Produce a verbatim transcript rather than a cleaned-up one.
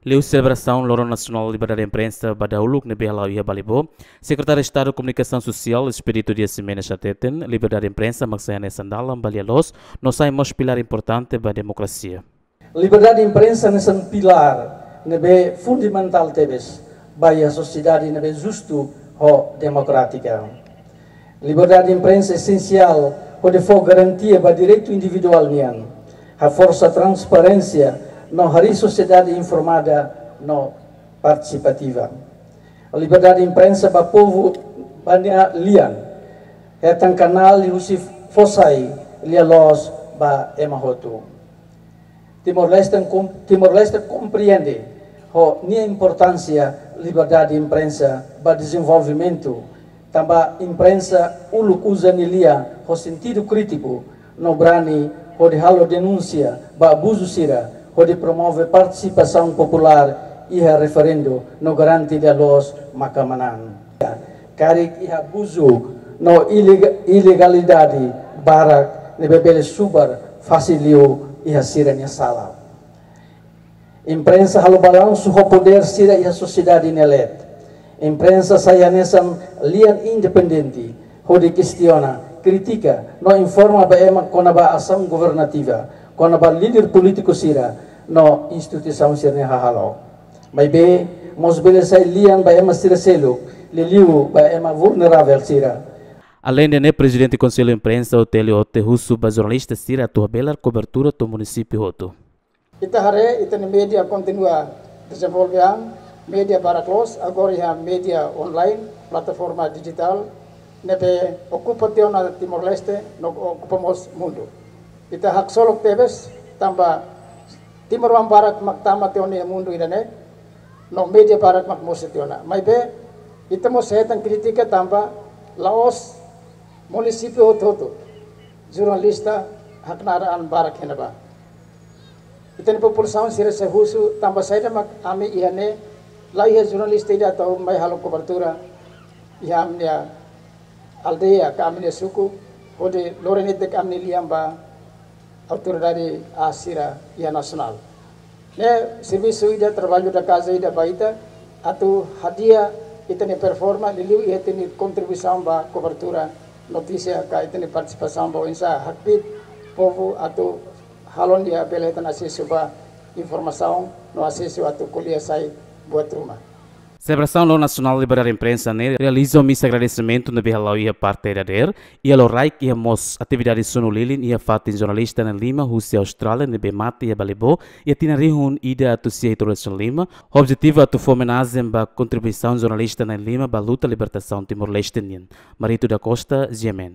Liuhusi selebrasaun Loron Nasionál Liberdade Imprensa ba dahuluk ne'ebé hala'o iha Balibó, Sekretáriu Estadu Komunikasaun Sosiál Expedito Dias Ximenes hateten, liberdade imprensa mak sai hanesan dalan ba lia-loos, no sai mós pilár importante ba demokrasia. Liberdade imprensa hanesan pilár ne'ebé fundamentál tebes ba iha sosiedade ne'ebé justu ho demokrátika. Liberdade imprensa esensiál hodi fó garantia ba direitu individuál nian, haforsa transparénsia no harii sosiedade informada no partisipativa. Liberdade imprensa ba povu ba nia lian hetan kanál liuhusi fó sai lia-loos ba ema hotu. Timor-Leste kom-, Timor-Leste komprende ho nia importánsia liberdade imprensa ba dezenvolvimentu, tanba imprensa uluk uza nia lia ho sentidu krítiku no brani hodi halo denúnsia ba abuzu sira, hodi promove partisipasaun populár iha referendu no garante lia-loos maka manán. Karik iha abuzu no ilega-, ilegalidade barak ne'ebé bele subar fase liu iha sira-nia sala. Imprensa halo balansu ho podér sira iha sosiedade nia leet. Imprensa sai hanesan lian independente hodi kestiona, kritika no informa ba ema kona-ba asaun governativa, kona-ba líder polítiku sira no instituisaun sira-nia hahalok. Maibé mós bele sai lian ba ema sira seluk, liuliu ba ema vulneravel sira. Aleinde ne'e, Prezidente Konsellu Imprensa, O T L O T, husu ba jornalista sira atu habelar kobertura to'o munisípiu hotu. Ita haree, ita-nia média kontinua dezenvolve an, média barak loos, agora iha média online, plataforma dijitál, ne'ebé okupa tiha ona Timor-Leste, no okupa mós mundu. Ita haksolok tebes, tanba timoroan barak mak tama tiha ona iha mundu ida-ne'e, no média barak mak mosu tiha ona. Maibé, ita mós hetan krítika tanba la'ós munisípiu hotu-hotu jornalista haknaar an barak iha ne'ebá. Ita-nia populasaun sira sei husu tanba saida mak ami iha ne'e la iha jornalista ida atu mai halo kobertura iha ami-nia aldeia ka ami-nia suku, hodi lori netik ami-nia lian ba autoridade aas sira iha nasionál. Ne'e servisu ida, trabalho da casa ida ba ita, atu hadi'a ita-nia performa, liuliu iha ita-nia kontribuisaun ba kobertura notísia ka ita-nia partisipasaun ba oinsá hakbiit povu atu halo nia bele hetan asesu ba informasaun no asesu atu ko'alia sai buat ruma. Selebrasaun Loron Nasionál Liberdade Imprensa ne'e realiza misa agradesimentu ne'ebé hala'o iha parte dadeer, iha loraik iha mós atividade sunu lilin iha fatin jornalista na'in-lima husi Austrália ne'ebé mate iha Balibó iha tinan rihun ida atus sia hitu resin lima, ho objetivu atu fó omenajen ba kontribuisaun jornalista na'in-lima ba luta libertasaun Timor-Leste nian. Marito da Costa, G M N.